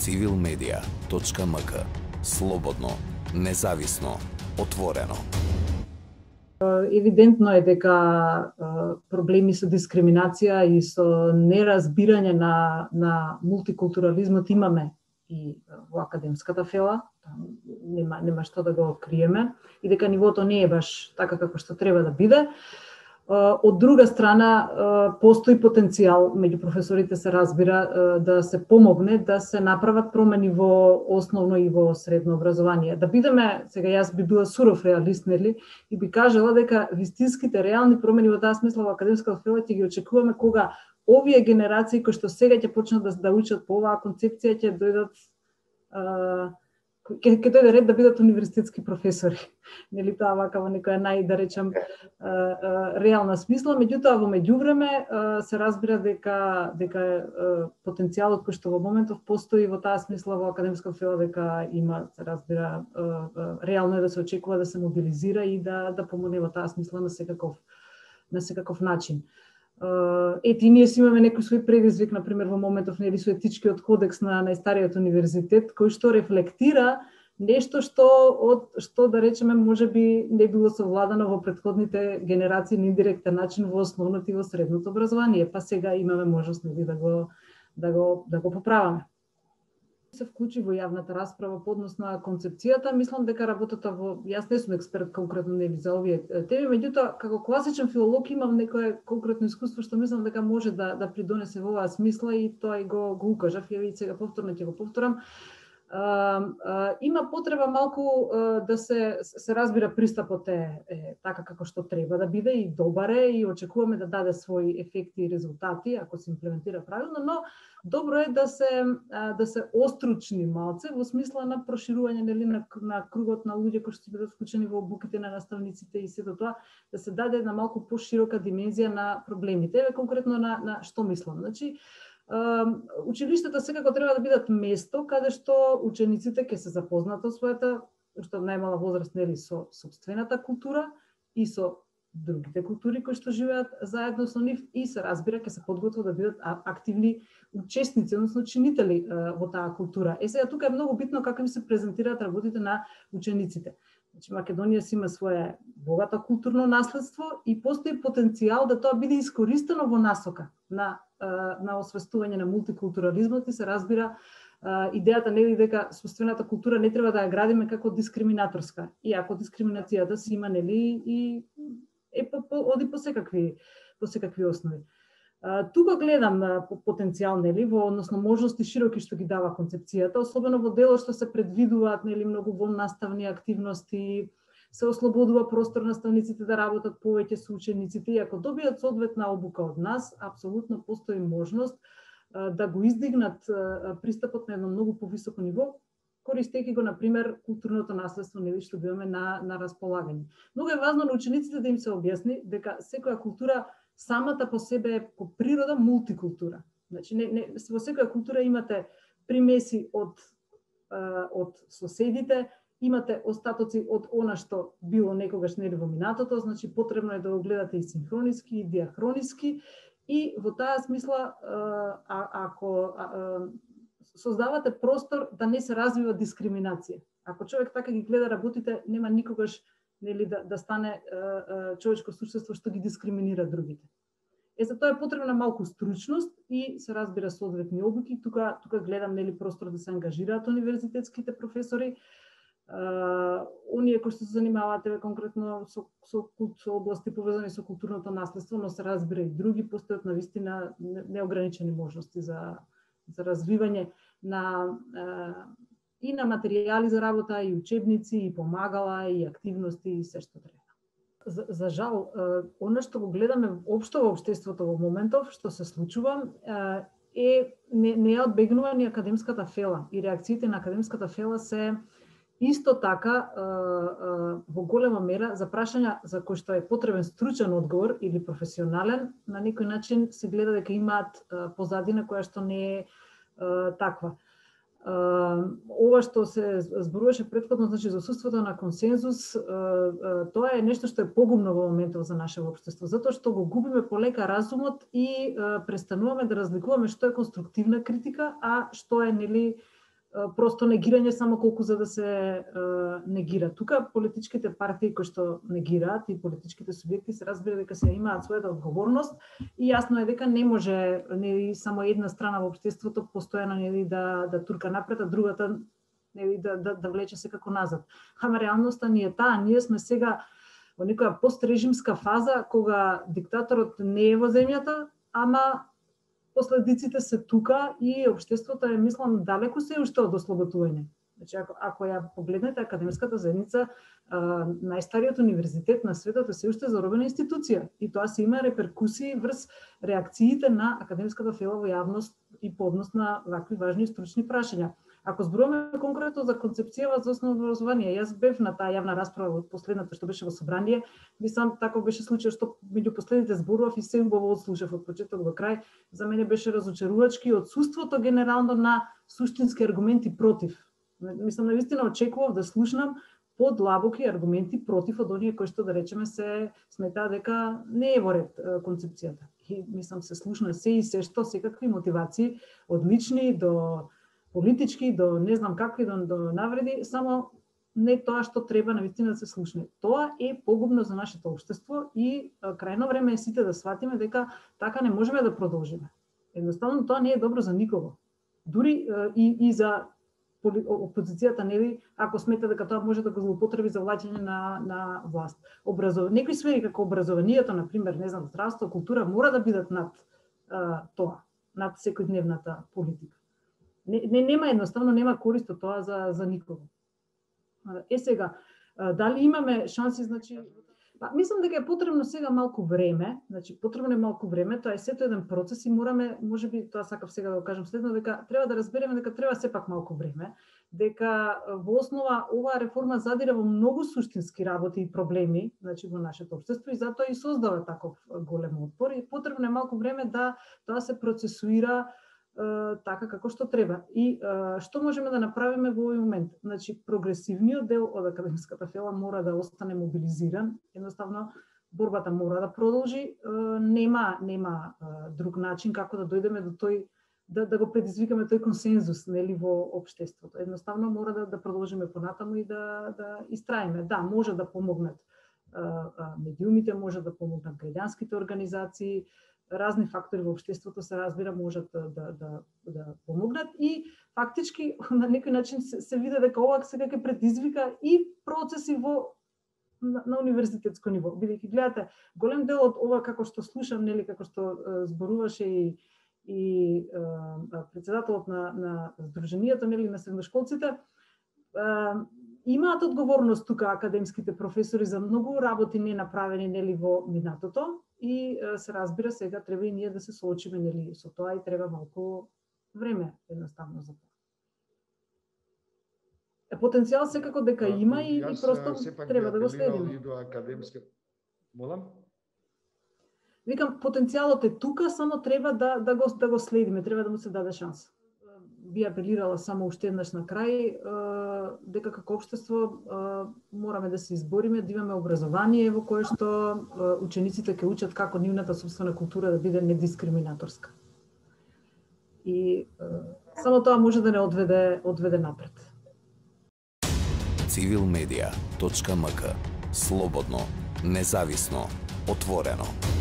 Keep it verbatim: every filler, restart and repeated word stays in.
цивил медија точка ем ка. Слободно, независно, отворено. Евидентно е дека проблеми со дискриминација и со неразбирање на, на мултикултурализмот имаме и во академската фела, нема, нема што да го криеме, и дека нивото не е баш така како што треба да биде. Од друга страна, постои потенцијал, меѓу професорите се разбира, да се помогне да се направат промени во основно и во средно образование. Да бидеме, сега јас би била суров реалист, нели, и би кажала дека вистинските реални промени во таа смисла во академската фела ќе ги очекуваме кога овие генерации кои што сега ќе почнат да, да учат по оваа концепција ќе дојдат ќе ќе дојде ред да бидат универзитетски професори. Нели тоа вака во некоја нај, да речем, реална смисла, меѓутоа во меѓувреме се разбира дека дека потенцијалот кој што во моментов постои во таа смисла во академската фела дека има, се разбира, реално е да се очекува да се мобилизира и да да помогне во таа смисла на секаков на секаков начин. Ете, и ние си имаме некој свој предизвик, например, во моментов нели со етичкиот кодекс на најстариот универзитет, кој што рефлектира нешто што од што да речеме можеби не било совладано во претходните генерации на индиректен начин во основното и во средното образование, па сега имаме можност нели да го да го да го поправаме. Се вклучи во јавната расправа по однос на концепцијата, мислам дека работата во јас не сум експерт конкретно нели за овие теми, меѓутоа како класичен филолог имам некое конкретно искуство што мислам дека може да да придонесе во оваа смисла и тоа и го го укажав, ја и сега повторно ќе го повторам. Uh, uh, има потреба малку uh, да се се разбира пристапот е, е така како што треба да биде и добар е и очекуваме да даде своји ефекти и резултати ако се имплементира правилно, но добро е да се uh, да се остручни малце во смисла на проширување нели на, на кругот на луѓе кои ќе бидат вклучени во обуките на наставниците и сето тоа, да се даде една малку поширока димензија на проблемите. Еве конкретно на на што мислам. Значи училиштата секако треба да бидат место каде што учениците ќе се запознаат со својата, уште од најмала возраст, нели, со сопствената култура и со другите култури кои што живеат заедно со нив и се разбира ќе се подготват да бидат активни учесници, односно чинители во таа култура. Е сега тука е многу битно како им се презентираат работите на учениците. Значи Македонија си има свое богато културно наследство и постои потенцијал да тоа биде искористено во насока на на освестување на мултикултурализмот и се разбира идејата нели дека сопствената култура не треба да ја градиме како дискриминаторска, иако дискриминацијата си има нели и е по, по, оди по секакви по секакви основи. Тука гледам потенцијал нели во односно можности широки што ги дава концепцијата, особено во делот што се предвидуваат нели многу воннаставни активности, се ослободува простор наставниците да работат повеќе со учениците и ако добијат соодветна обука од нас, апсолутно постои можност да го издигнат пристапот на едно многу повисоко ниво, користејќи го на пример културното наследство нели што имаме на на располагање. Многу е важно на учениците да им се објасни дека секоја култура самата по себе е по природа мултикултура. Значи не, не во секоја култура имате примеси од од соседите, имате остатоци од она што било некогаш нели во минатото, значи потребно е да го гледате и синхрониски и диахрониски и во таа смисла а, ако а, создавате простор да не се развива дискриминација. Ако човек така ги гледа работите, нема никогаш нели да да стане а, а, човечко суштество што ги дискриминира другите. Е за тоа е потребна малку стручност и се разбира соодветни обуки. Тука тука гледам нели простор да се ангажираат универзитетските професори. Uh, оние кои што се занимаваат еве конкретно со, со, со области повезани со културното наследство, но се разбира и други, постојат навистина неограничени можности за, за развивање на, uh, и на материјали за работа, и учебници, и помагала, и активности, и се што треба. За, за жал, uh, оно што го гледаме општо во општеството во моментов, што се случува, uh, е не, не е одбегнува ни академската фела и реакциите на академската фела се исто така, во голема мера, за прашања за кои што е потребен стручен одговор или професионален, на некој начин се гледа дека имаат позадина која што не е таква. Ова што се зборуваше претходно, значи за отсуството на консензус, тоа е нешто што е погубно во моментов за наше општество, затоа што го губиме полека разумот и престануваме да разликуваме што е конструктивна критика, а што е нели просто негирање само колку за да се е, негира. Тука политичките партии кои што негираат и политичките субјекти се разбира дека се имаат својата одговорност и јасно е дека не може нели само една страна во општеството постојано нели да да турка напред, а другата нели да да да влече секако назад. Ама реалноста ни е таа, ние сме сега во некоја пострежимска фаза кога диктаторот не е во земјата, ама последиците се тука и општеството е, мислам, далеку се уште од ослободување. Значи, ако, ако ја погледнете академската заедница, а, најстариот универзитет на светот е се уште заробена институција и тоа се има реперкусии врз реакциите на академската фела во јавност и по однос на вакви важни стручни прашања. Ако зборуваме конкретно за концепцијава за основно образование, јас бев на таа јавна расправа во последната што беше во собрание, мислам таков беше случај што меѓу последните зборував и се убаво слушав од почеток до крај. За мене беше разочарувачки одсуството генерално на суштински аргументи против. Мислам навистина очекував да слушнам подлабоки аргументи против од оние кои што да речеме се сметаа дека не е во ред концепцијата. И мислам се слушна се и се што секакви мотивации од лични до политички, до не знам какви, до, до навреди, само не тоа што треба навистина да се слушне. Тоа е погубно за нашето општество и а, крајно време е сите да сватиме дека така не можеме да продолжиме. Едноставно тоа не е добро за никого. Дури а, и, и за опозицијата, нели, ако смета дека тоа може да го злоупотреби за влаќање на, на власт. Образов... Некои сфери како образованието, например, не знам, здравство, култура, мора да бидат над а, тоа, над секојдневната политика. Не, не, нема едноставно, нема корист од тоа за, за никого. Е сега, дали имаме шанси, значи... Па, мислам дека е потребно сега малку време, значи потребно е малку време, тоа е сето еден процес и мораме, можеби тоа сакав сега да го кажам следно, дека треба да разбереме дека треба сепак малку време, дека во основа оваа реформа задира во многу суштински работи и проблеми, значи во нашето општество и затоа и создава таков голем отпор и потребно е малку време да тоа се процесуира така како што треба. И а, што можеме да направиме во овој момент? Значи, прогресивниот дел од академската фела мора да остане мобилизиран. Едноставно, борбата мора да продолжи. А, нема нема а, друг начин како да дојдеме до тој, да, да го предизвикаме тој консензус, нели, во општеството. Едноставно, мора да, да продолжиме понатаму и да, да истраиме. Да, може да помогнат а, а, медиумите, може да помогнат граѓанските организации, разни фактори во општеството се разбира можат да, да, да, да помогнат и фактички на некој начин се, се види дека ова сега ќе предизвика и процеси во на, на универзитетско ниво. Бидејќи гледате, голем дел од ова како што слушам, нели, како што е, зборуваше и и е, председателот на на Сдруженијето, нели, на средношколците, е, имаат одговорност тука академските професори за многу работи не направени, нели, во минатото. И се разбира сега треба и ние да се соочиме, нели, со тоа и треба малку време едноставно за тоа. Е, потенцијал секако дека има и, и просто треба да го следиме. До академски... Молам? Викам, потенцијалот е тука, само треба да да го да го следиме, треба да му се даде шанса. Би апелирала само уште еднаш на крај дека како општество мораме да се избориме да имаме образование во кое што учениците ќе учат како нивната сопствена култура да биде недискриминаторска. И само тоа може да не одведе одведе напред. цивил медија точка ем ка. Слободно, независно, отворено.